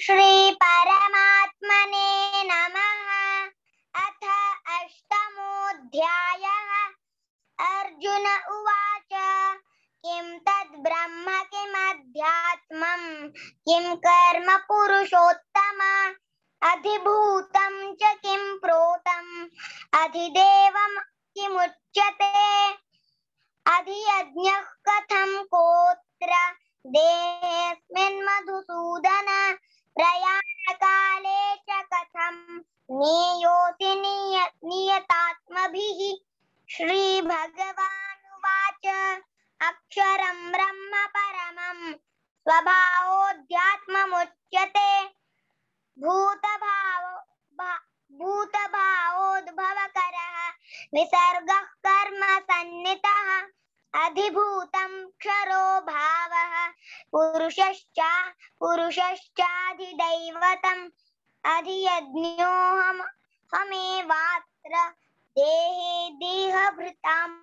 श्री परमात्मने नमः। अथ अष्टमोऽध्यायः। अर्जुन उवाच किं तद् ब्रह्म किमध्यात्मं किं कर्म पुरुषोत्तम अधिभूतं च किं प्रोतं अधिदेवं किमुच्यते अधियज्ञः कथं कोत्र देहेऽस्मिन् मधुसूदन प्रयाणकाले च कथं नीयोऽसि नियतात्मभिः। श्रीभगवानुवाच अक्षरं ब्रह्म परमं स्वभावोऽध्यात्ममुच्यते भूतभावोद्भवकरः विसर्गः कर्म सन्नितः अधिभूतं क्षरो भावः पुरुषश्चाधिदैवतम् अधियज्ञोऽहमेवात्र देहे देहभृताम्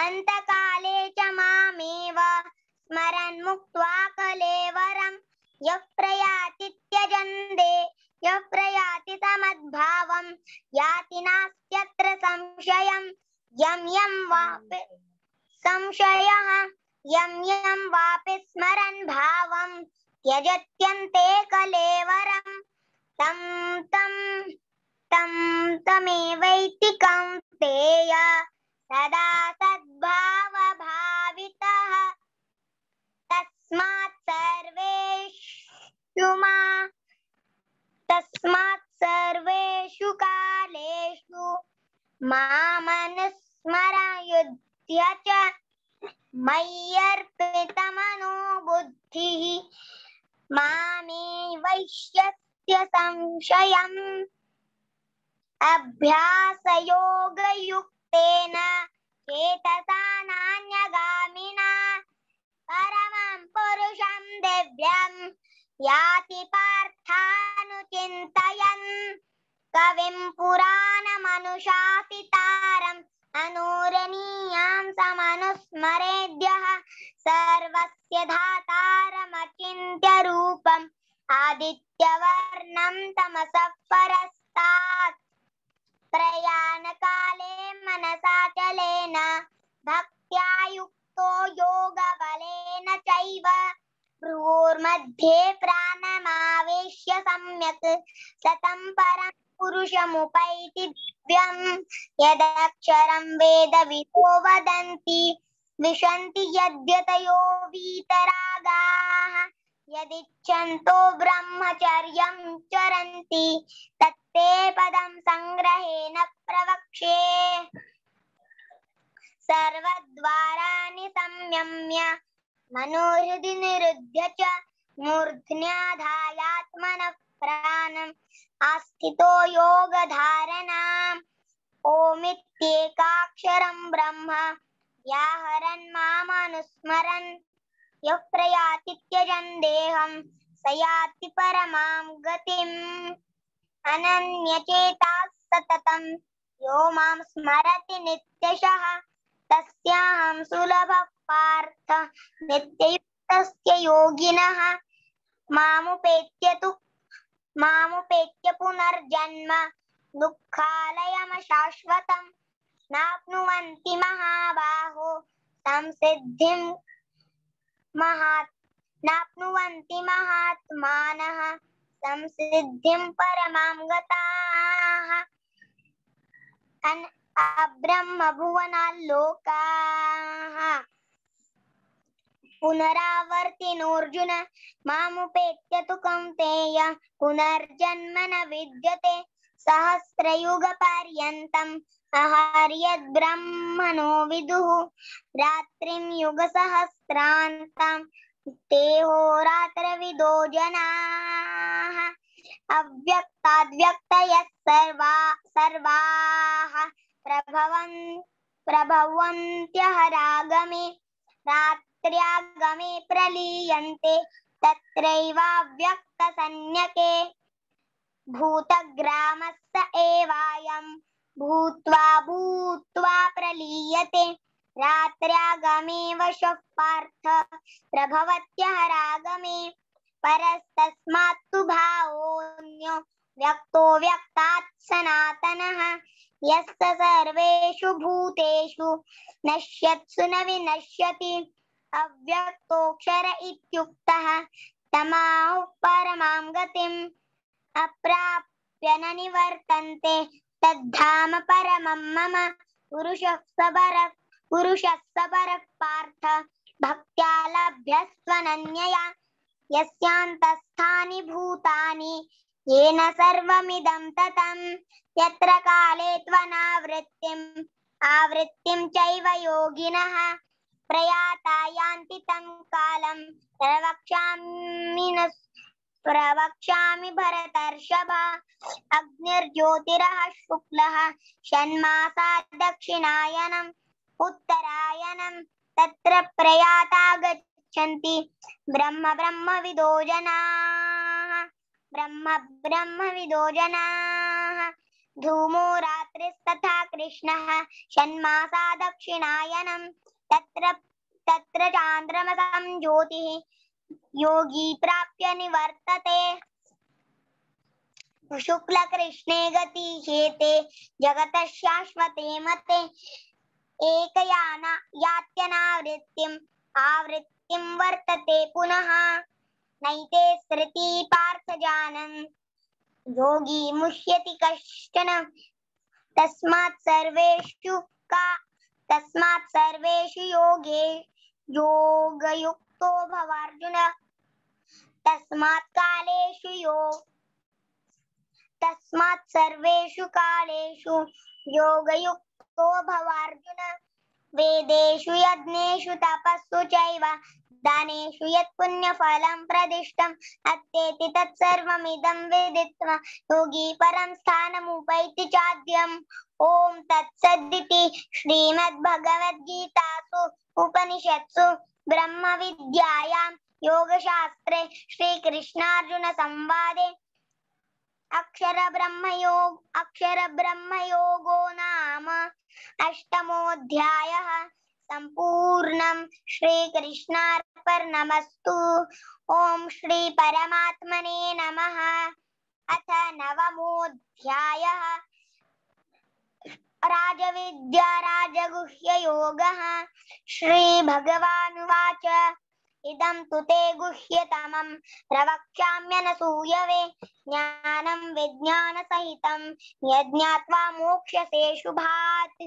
अन्तकाले च मामेव स्मरन् मुक्त्वा कलेवरं यः प्रयाति समद्भावं याति नास्त्यत्र संशयम् यं यं वापि स्मरन् भावं त्यजत्यन्ते कलेवरं तमेवैति कौन्तेय सदा सद्भावभावितः। तस्मात् सर्वेषु कालेषु मामनुस्मर युध्य च मय्यर्पितमनो बुद्धिः मामे वैश्यस्य संशयम् अभ्यासयोगयुक्तेन चेतसा नान्यगामिना परमं पुरुषं दिव्यं याति पार्थानुचिन्तयन् कविं पुराणमनुशासितारम् अनुरणीयां समनुस्मरेद्यः सर्वस्य धातारमचिन्त्य रूपम् आदित्यवर्णं तमसः परस्तात् प्रयाणकाले मनसाचलेन भक्त्या युक्तो योगबलेन चैव भ्रूर्मध्ये प्राणमावेश्य सम्यक् सतं परं पुरुषमुपैति दिव्यम् यदक्षरं वेदविदो वदन्ति विशन्ति यद्यतयो वीतरागाः यदिच्छन्तो ब्रह्मचर्यं चरन्ति तत्ते पदं संग्रहेण प्रवक्ष्ये। सर्वद्वाराणि संयम्य मनोहृदि निरुध्य च मूर्ध्न्याधायात्मनः प्राणम् आस्थितो योगधारणाम् ओमित्येकाक्षरं ब्रह्म व्याहरन् मामनुस्मरन् यः प्रयाति त्यजन् देहं स याति परमां गतिम् अनन्यचेताः सततं यो मां स्मरति नित्यशः तस्याहं सुलभः पार्थ नित्ययुक्तस्य योगिनः मामुपेत्य पुनर्जन्म दुःखालयमशाश्वतं नाप्नुवन्ति महाबाहो संसिद्धिं नाप्नुवन्ति महात्मानः संसिद्धिं परमां गताः। अब्रह्मभुवनाल्लोकाः पुनरावर्तिनोऽर्जुन मामुपेत्य तु कौन्तेय पुनर्जन्म न विद्यते सहस्रयुगपर्यन्तम् अहर्यद्ब्रह्मणो विदुः रात्रिं युगसहस्रान्तं तेहोरात्रविदो जनाः अव्यक्ताद्व्यक्तयः सर्वाः प्रभवन्त्यहरागमे रात्र्यागमे प्रलीयन्ते तत्रैवाव्यक्तसंज्ञके भूतग्रामस्य एवायं भूत्वा प्रलीयते रात्र्यागमे वशः पार्थ प्रभवत्यहरागमे परस्तस्मात्तु भावोऽन्यो व्यक्तो व्यक्तात् सनातनः यस्य सर्वेषु भूतेषु नश्यत्सु न विनश्यति अव्यक्तोऽक्षर इत्युक्तः तमाहुः परमां गतिम् अप्राप्य न निवर्तन्ते तद्धाम परमं मम पुरुषः सबरः पार्थ भक्त्या लभ्यस्त्वनन्यया यस्यान्तस्थानि भूतानि येन सर्वमिदं ततं यत्र काले त्वनावृत्तिम् आवृत्तिं चैव योगिनः प्रयाता यान्ति तं कालं प्रवक्ष्यामि भरतर्षभ अग्निर्ज्योतिरः शुक्लः षण्मासा दक्षिणायनम् उत्तरायणं तत्र प्रयाता गच्छन्ति ब्रह्मविदो जनाः धूमो रात्रिस्तथा कृष्णः षण्मासा दक्षिणायनं तत्र चान्द्रमसं ज्योतिः योगी प्राप्य निवर्तते शुक्लकृष्णे गति हेते जगतः शाश्वते मते आवृत्तिं वर्तते पुनः नैते स्मृति पार्थ जानन् योगी मुह्यति कश्चन तस्मात् सर्वेषु योगयुक्तो भवार्जुन तस्मात् सर्वेषु कालेषु योगयुक्तो भवार्जुन वेदेषु यज्ञेषु तपस्सु चैव दानेषु यत् पुण्यफलं प्रदिष्टम् अत्येति तत्सर्वमिदं विदित्वा योगी परं स्थानमुपैति चाद्यम् ॐ तत्सदिति श्रीमद्भगवद्गीतासु उपनिषत्सु ब्रह्मविद्यायां योगशास्त्रे श्रीकृष्णार्जुन संवादे अक्षरब्रह्मयोगो नाम अष्टमोऽध्यायः सम्पूर्णं श्रीकृष्णार्पणमस्तु ॐ श्री परमात्मने नमः अथ नवमोऽध्यायः राजविद्या राजगुह्ययोगः श्रीभगवानुवाच इदं तु ते गुह्यतमं प्रवक्ष्याम्यनसूयवे ज्ञानं विज्ञानसहितं यज्ञात्वा मोक्ष्यसे शुभात्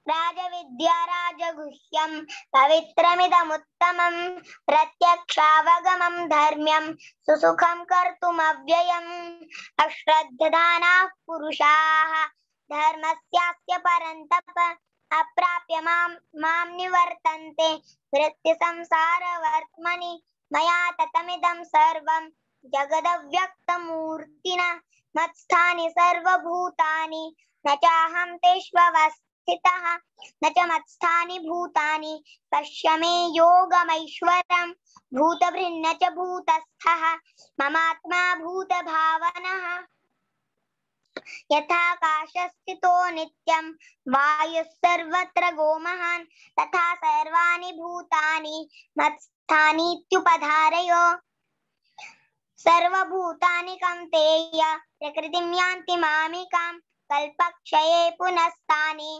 राजविद्या राजगुह्यं पवित्रमिदमुत्तमं प्रत्यक्षावगमं धर्म्यं सुसुखं कर्तुमव्ययम् अश्रद्धदानाः पुरुषाः धर्मस्यास्य परन्तप अप्राप्य मां निवर्तन्ते वृत्तिसंसारवर्त्मनि मया ततमिदं सर्वं जगदव्यक्तमूर्तिना मत्स्थानि सर्वभूतानि न चाहं तेष्वस्थितः न च मत्स्थानि भूतानि पश्य मे योगमैश्वरम् भूतभृन्न च भूतस्थः ममात्मा भूतभावनः यथाकाशस्थितो नित्यं वायुः सर्वत्र गोमहान् तथा सर्वाणि भूतानि मत्स्थानीत्युपधारय सर्वभूतानि कौन्तेय प्रकृतिं यान्ति मामिकां कल्पक्षये पुनस्तानि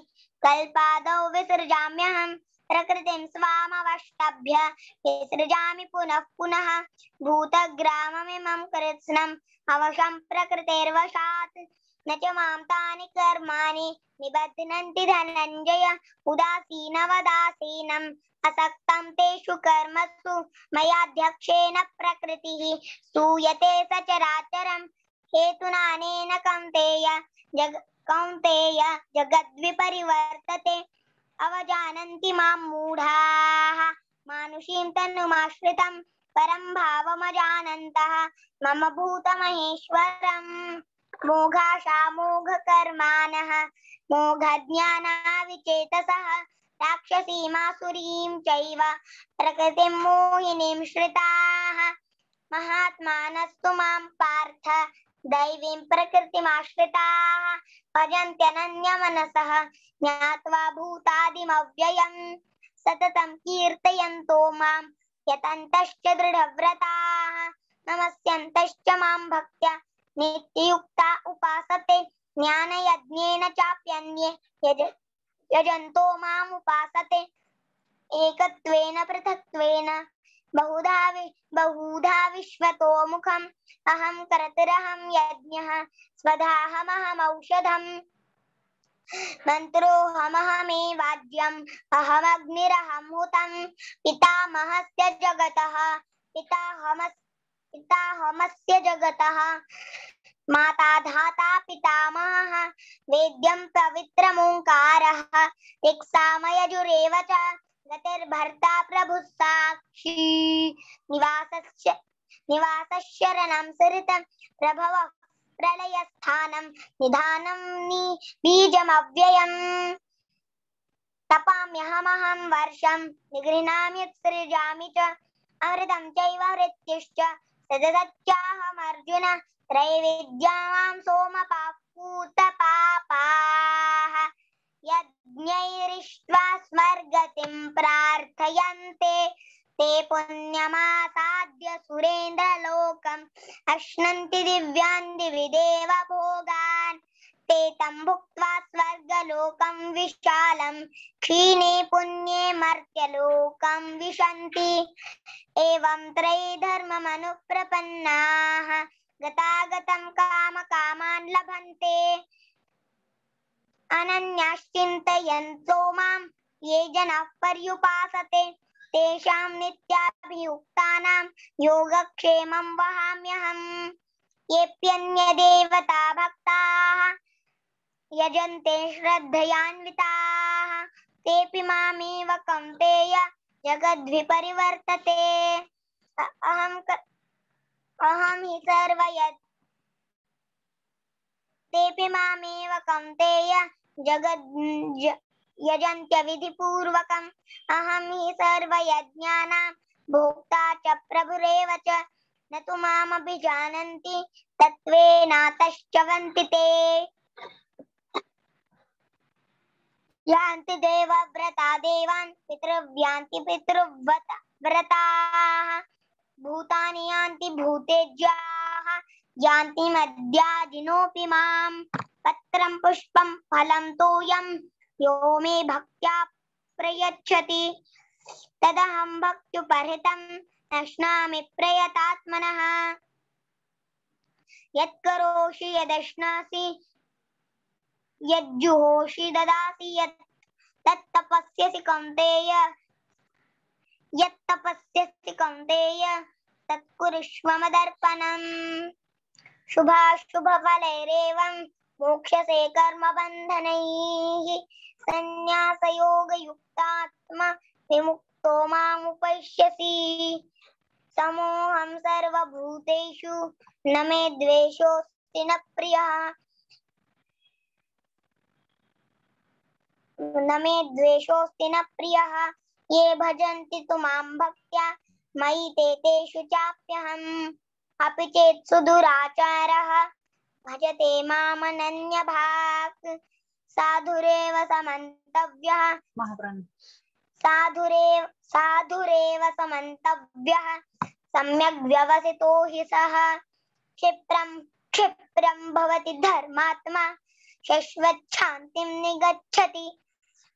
कल्पादौ विसृजाम्यहं प्रकृतिं स्वामवष्टभ्य विसृजामि पुनः पुनः भूतग्राममिमं कृत्स्नम् अवशं प्रकृतेर्वशात् न च मां तानि कर्माणि निबध्नन्ति धनञ्जय उदासीनवदासीनम् असक्तं तेषु कर्मसु मयाध्यक्षेण प्रकृतिः सूयते सचराचरम् हेतुनानेन कौन्तेय जगद्विपरिवर्तते अवजानन्ति मां मूढाः मानुषीं तनुमाश्रितं परं भावमजानन्तः मम भूतमहेश्वरम् मोघाशामोघकर्माणः मोघज्ञानाविचेतसः राक्षसीमासुरीं चैव प्रकृतिं मोहिनीं श्रिताः महात्मानस्तु मां पार्थ दैवीं प्रकृतिमाश्रिताः भजन्त्यनन्यमनसः ज्ञात्वा भूतादिमव्ययम् सततं कीर्तयन्तो मां यतन्तश्च दृढव्रताः नमस्यन्तश्च मां भक्त्या नित्ययुक्ता उपासते ज्ञानयज्ञेन चाप्यन्ये यजन्तो माम् उपासते एकत्वेन पृथक्त्वेन बहुधा विश्वतो मुखम् अहं कर्तृहं यज्ञः स्वधाहमहमौषधम् मन्त्रोऽहमहमेवाज्यम् अहमग्निरहं हुतं पितामहस्य जगतः पिताहमस्य जगतः माता धाता पितामहः वेद्यं पवित्रमोङ्कारः ऋक्सामयजुरेव च गतिर्भर्ता प्रभुः साक्षी निवासशरणं सरितं प्रभवः प्रलयस्थानं निधानं बीजमव्ययम् तपाम्यहमहं वर्षं निगृह्णामि सृजामि च अमृतं चैव मृत्युश्च सददच्चाहमर्जुन त्रैविद्यां सोमपापूतपापाः यज्ञैरिष्ट्वा स्वर्गतिं प्रार्थयन्ते ते पुण्यमासाद्य सुरेन्द्रलोकम् अश्नन्ति दिव्यान् दिवि देव भोगान् ते तं भुक्त्वा स्वर्गलोकं विशालं क्षीणे पुण्ये मर्त्यलोकं विशन्ति एवं त्रैधर्ममनुप्रपन्नाः गतागतं कामकामान् लभन्ते अनन्याश्चिन्तयन्तो मां ये जनाः पर्युपासते तेषां नित्याभियुक्तानां योगक्षेमं वहाम्यहम् येऽप्यन्यदेवता भक्ताः यजन्ते श्रद्धयान्विताः तेऽपि मामेव कौन्तेय जगद्विपरिवर्तते अहं हि तेऽपि मामेव कौन्तेय यजन्त्यविधिपूर्वकम् अहं हि सर्वयज्ञानां भोक्ता च प्रभुरेव च न तु मामभिजानन्ति तत्त्वेनातश्चवन्ति ते यान्ति देवव्रता देवान् पितृव्यान्ति पितृव्रताः भूतानि यान्ति भूतेज्याः यान्ति मद्याजिनोऽपि माम् पत्रं पुष्पं फलं तोयं यो मे भक्त्या प्रयच्छति तदहं भक्त्युपहृतं नश्नामि प्रयतात्मनः यत्करोषि यदश्नासि यज्जुहोषि ददासि यत्तपस्यसि कौन्तेय तत्कुरुष्व मदर्पणम् शुभाशुभफलैरेवं मोक्ष्यसे कर्मबन्धनैः सन्न्यासयोगयुक्तात्मा विमुक्तो मामुपैष्यसि समोऽहं सर्वभूतेषु न मे द्वेषोऽस्ति न प्रियः ये भजन्ति तु मां भक्त्या मयि तेषु चाप्यहम् अपि चेत् सुदुराचारः भजते मामनन्यभाक् साधुरेव समन्तव्यः सम्यग् व्यवसितो हि सः क्षिप्रं भवति धर्मात्मा शश्वच्छान्तिं निगच्छति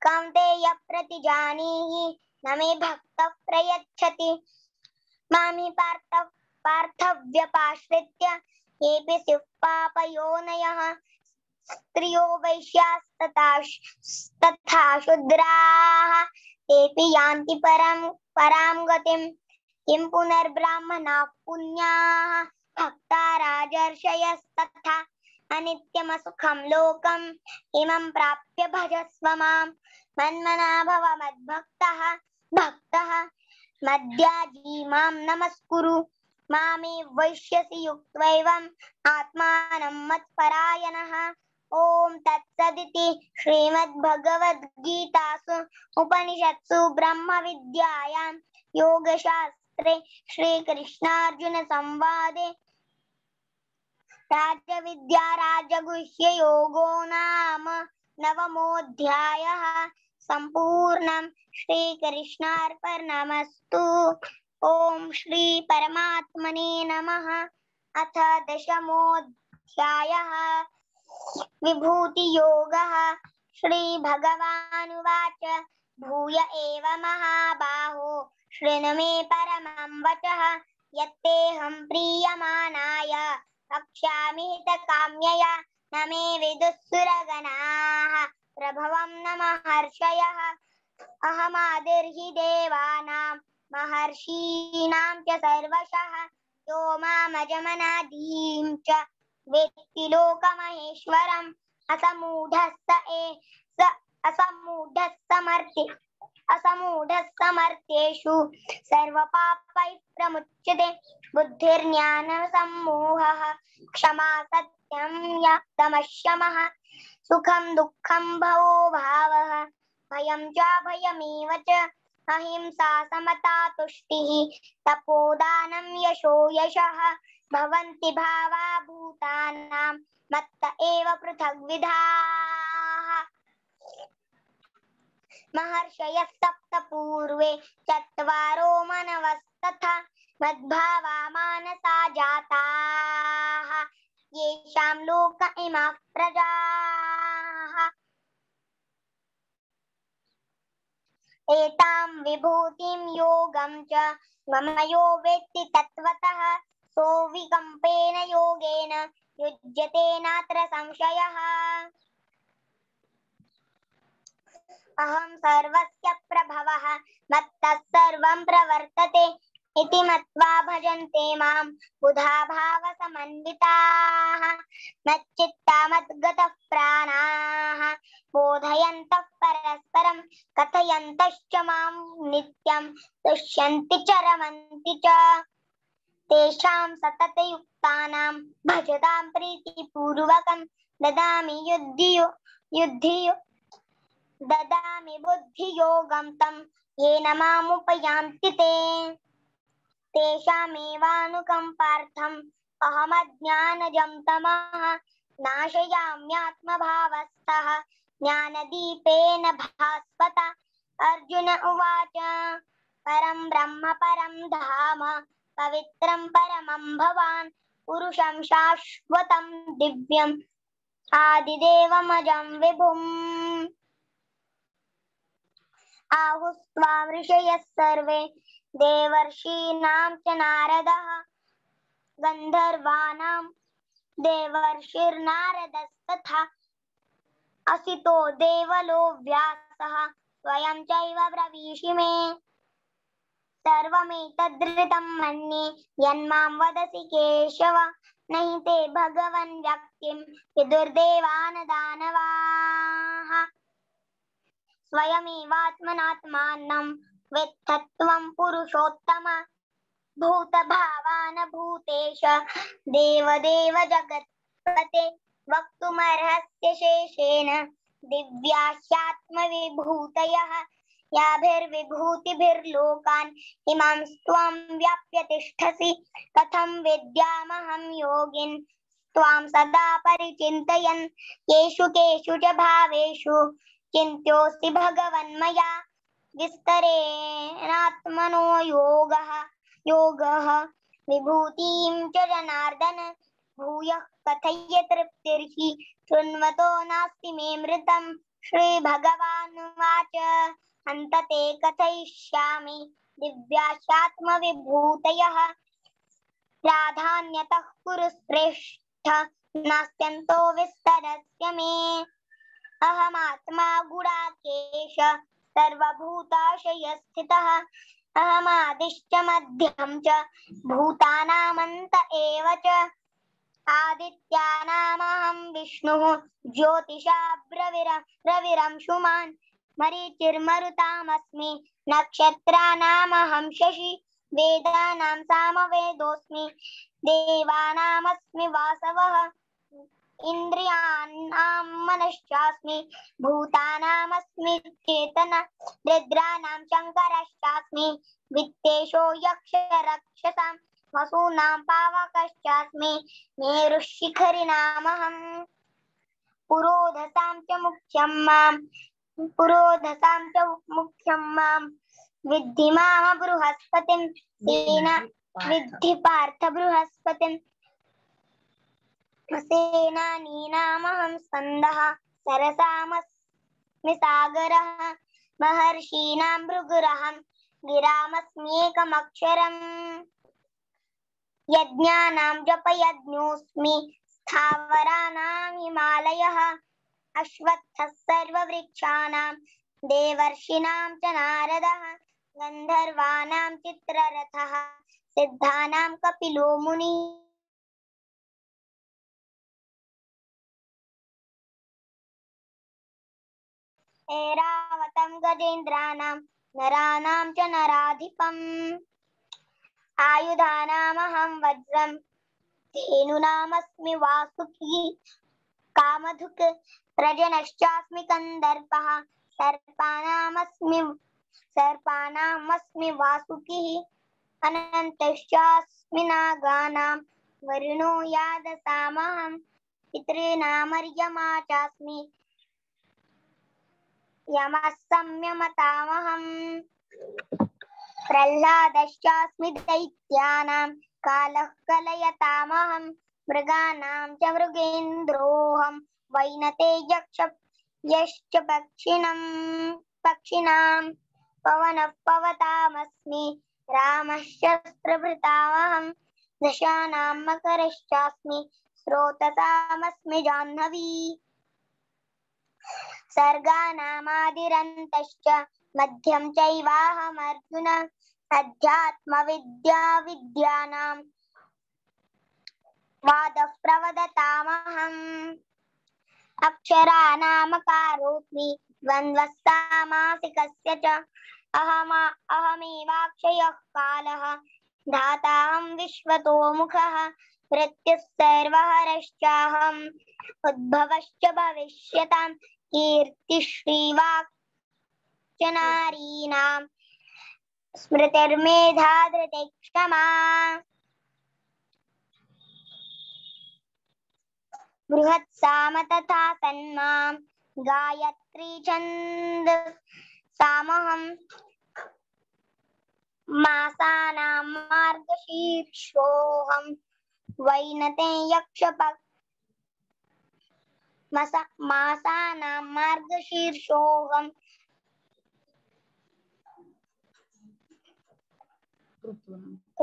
कौन्तेय प्रतिजानीहि न मे भक्तः प्रयच्छति मामि पार्थव्यपाश्रित्य येऽपि स्युः पापयोनयः स्त्रियो वैश्यास्तथा शूद्राः तेऽपि यान्ति परां गतिं किं पुनर्ब्राह्मणाः पुण्याः भक्ता राजर्षयस्तथा अनित्यमसुखं लोकम् इमं प्राप्य भजस्व मां मन्मना भव मद्भक्तः मद्याजी मां नमस्कुरु मामे वैश्यसि युक्त्वैवम् आत्मानं मत्परायणः ॐ तत्सदिति श्रीमद्भगवद्गीतासु उपनिषत्सु ब्रह्मविद्यायां योगशास्त्रे श्रीकृष्णार्जुन संवादे राजविद्या राजगुह्ययोगो नाम नवमोऽध्यायः सम्पूर्णम् श्रीकृष्णार्पणमस्तु। ओम श्री परमात्मने नमः। अथ दशमोऽध्यायः विभूति योगः। श्री भगवानुवाच भूय एव महाबाहो शृणु मे परमं वचः यत्तेऽहं प्रीयमाणाय वक्ष्यामि हितकाम्यया न मे विदुः सुरगणाः प्रभवं न महर्षयः अहमादिर्हि देवानां महर्षीणां च सर्वशः यो मामजमनादीं च वेत्ति लोकमहेश्वरम् असमूढः समर्थ्येषु सर्वपापैः प्रमुच्यते बुद्धिर्ज्ञानसम्मोहः क्षमा सत्यं दमः शमः सुखं दुःखं भवो भावः भयं च भयमेव च अहिंसा समता तुष्टिः तपोदानं यशो यशः भवन्ति भावा भूतानां मत्त एव पृथग्विधाः महर्षयः सप्त पूर्वे चत्वारो मनवस्तथा मद्भावा मानसा जाताः येषां लोक इमाः प्रजाः एतां विभूतिं योगं च मम यो वेत्ति तत्त्वतः सोऽविकम्पेन योगेन युज्यते नात्र संशयः अहं सर्वस्य प्रभवः मत्तः सर्वं प्रवर्तते इति मत्वा भजन्ते मां बुधा भावसमन्विताः मच्चित्ता मद्गतः प्राणाः बोधयन्तः परस्परं कथयन्तश्च मां नित्यं तुष्यन्ति च रमन्ति च तेषां सततयुक्तानां भजतां प्रीतिपूर्वकं ददामि बुद्धियोगं तं येन मामुपयान्ति ते तेषामेवानुकम्पार्थम् अहमज्ञानजं तमः नाशयाम्यात्मभावस्थः ज्ञानदीपेन भास्वता अर्जुन उवाच परं ब्रह्म परं धाम पवित्रं परमं भवान् पुरुषं शाश्वतं दिव्यम् आदिदेवमजं विभुम् आहुस्त्वां ऋषयः सर्वे देवर्षीणां च नारदः गन्धर्वाणां देवर्षिर्नारदस्तथा असितो देवलो व्यासः स्वयं चैव ब्रवीषि मे सर्वमेतद्ऋतं मन्ये यन्मां वदसि केशव न हि ते भगवन् व्यक्तिं विदुर्देवानदानवाः स्वयमेवात्मनात्मानं वेत्थत्वं पुरुषोत्तम भूतभावान भूतेश देवदेव जगत्पते वक्तुमर्हस्य शेषेण दिव्याह्यात्मविभूतयः याभिर्विभूतिभिर्लोकान् इमां त्वं व्याप्य तिष्ठसि कथं विद्यामहं योगिन् त्वां सदा परिचिन्तयन् येषु केषु च भावेषु चिन्त्योऽस्ति भगवन्मया विस्तरेणात्मनो योगः विभूतिं च जनार्दन भूयः कथय तृप्तिर्हि शृण्वतो नास्ति मे मृतं श्रीभगवानुवाच हन्तते कथयिष्यामि दिव्याश्चात्मविभूतयः प्राधान्यतः कुरु श्रेष्ठ नास्त्यन्तो विस्तरस्य मे अहमात्मा गुडाकेश सर्वभूताशयस्थितः अहमादिश्च मध्यं च भूतानामन्त एव च आदित्यानामहं विष्णुः ज्योतिषाब्रविरंशुमान् मरीचिर्मरुतामस्मि नक्षत्राणामहं शशि वेदानां सामवेदोऽस्मि देवानामस्मि वासवः इन्द्रियाणां मनश्चास्मि भूतानामस्मि चेतना रुद्राणां शङ्करश्चास्मि वित्तेषो यक्षरक्षसां वसूनां पावकश्चास्मि मेरुशिखरिणामहं पुरोधसां च मुख्यं मां विद्धि माम बृहस्पतिं विद्धि पार्थ बृहस्पतिं सेनानीनामहं स्कन्दः सरसामस्मि सागरः महर्षीणां भृगुरहं गिरामस्म्येकमक्षरम् यज्ञानां जपयज्ञोऽस्मि स्थावराणां हिमालयः अश्वत्थः सर्ववृक्षाणां देवर्षीणां च नारदः गन्धर्वाणां चित्ररथः सिद्धानां कपिलो मुनिः ऐरावतं गजेन्द्राणां नराणां च नराधिपम् आयुधानामहं वज्रं धेनूनामस्मि वासुकी कामधुक् प्रजनश्चास्मि कन्दर्पः सर्पानामस्मि वासुकिः अनन्तश्चास्मि नागानां वरुणो यादसामहं पितॄणामर्यमा चास्मि यमः संयमतामहम् प्रह्लादश्चास्मि दैत्यानां कालः कलयतामहं मृगाणां च मृगेन्द्रोऽहं वैनतेयश्च पक्षिणां पवनः पवतामस्मि रामश्चस्त्रभृतामहं दशानां मकरश्चास्मि स्रोतसामस्मि जाह्नवी सर्गाणामादिरन्तश्च मध्यं चैवाहमर्जुन अध्यात्मविद्यानां वादः प्रवदतामहम् अक्षराणामकारोऽस्मि द्वन्द्वः सामासिकस्य च अहमेवाक्षयः कालः धाताहं विश्वतोमुखः मृत्युः सर्वहरश्चाहम् उद्भवश्च भविष्यतां कीर्तिश्रीवाक् च नारीणां स्मृतिर्मेधा धृतिः क्षमा बृहत्साम तथा तन्मां गायत्री छन्दसामहं मासानां मार्गशीर्षोऽहं मासानां मार्गशीर्षोऽहं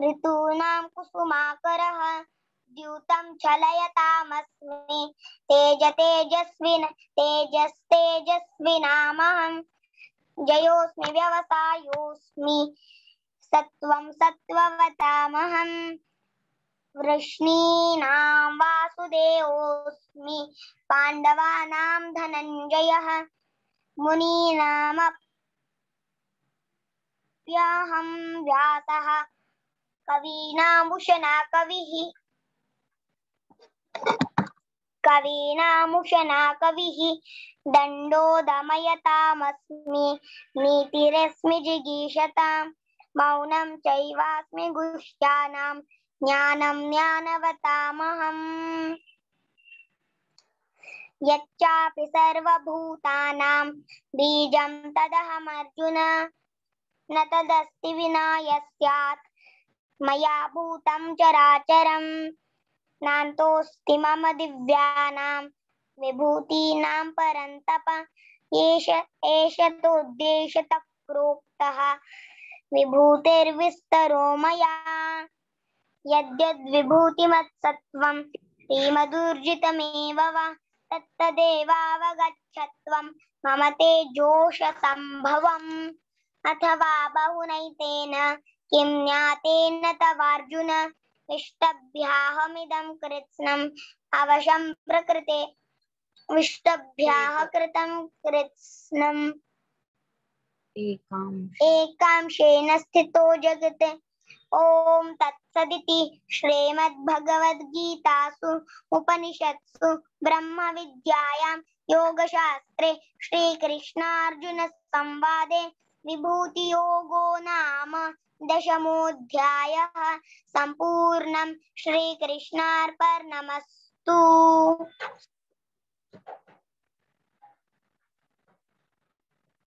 ऋतूनां कुसुमाकरः द्यूतं चलयतामस्मि तेजस्तेजस्विनामहं जयोऽस्मि व्यवसायोऽस्मि सत्त्वं सत्त्ववतामहं वृष्णीनां वासुदेवोऽस्मि पाण्डवानां धनञ्जयः मुनीनामप्यहं व्यासः कवीनामुशना कविः दण्डो दमयतामस्मि नीतिरस्मि जिगीषतां मौनं चैवास्मि गुह्यानां ज्ञानं ज्ञानवतामहम् यच्चापि सर्वभूतानां बीजं तदहमर्जुन न तदस्ति विना यस्यात् मया भूतं चराचरं नान्तोऽस्ति मम दिव्यानां विभूतीनां परन्तप एष तोद्देशतः प्रोक्तः विभूतिर्विस्तरो मया यद्यद्विभूतिमत्सत्त्वं श्रीमदूर्जितमेव वा तत्तदेवावगच्छत्वं मम तेजोषसम्भवम् अथवा बहुनैतेन किं ज्ञातेन तवार्जुन विष्टभ्याहमिदं कृत्स्नम् अवशं प्रकृते विष्टभ्याः कृतं कृत्स्नम् एकांशेन स्थितो जगत् ॐ तत्सदिति श्रीमद्भगवद्गीतासु उपनिषत्सु ब्रह्मविद्यायां योगशास्त्रे श्रीकृष्णार्जुनसंवादे विभूतियोगो नाम दशमोऽध्यायः सम्पूर्णम् श्रीकृष्णार्पणमस्तु।